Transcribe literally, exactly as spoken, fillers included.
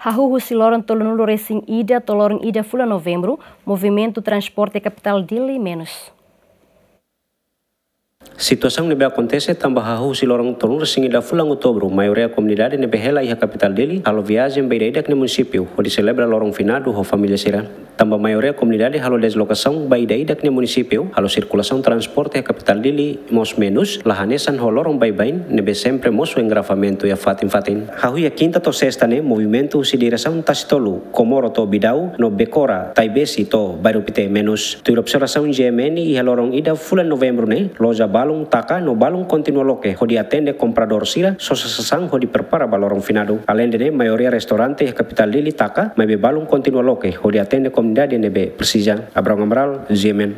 Hahú husi loron tolunulu resin ida to'o loron ida fulan Novembru, movimentu transporte iha kapitál Dili menus. Situasaun ne'ebé akontese tanba hahú husi loron tolunulu resin ida fulan Outubru, maioria komunidade ne'ebé hela iha kapitál Dili halo viajen ba ida-idak nia munisípiu hodi selebra loron finadu ho família sira. Tanba maioria komunidade halo deslokasaun ba ida-idak nia munisípiu, halo sirkulasaun transporte iha kapitál Dili mós menus, la hanesan ho loron baibain ne'ebé sempre mosu engarrafamentu iha fatin-fatin. Hahú iha kinta to'o sesta ne'e, movimentu husi diresaun Tasitolu, Komoro to'o Bidau, no Bekora, Taibesi to'o Bairru Pite menus. Tuir observasaun G M N, iha loron ida fulan Novembru ne'e, loja balun taka no balun kontinua loke hodi atende kompradór sira sosa sasán hodi prepara ba loron finadu. Aleinde ne'e, maioria restaurante iha kapitál Dili taka, maibé balun kontinua loke hodi atende komunidade ne'ebé presiza. Abrão Amaral, G M N.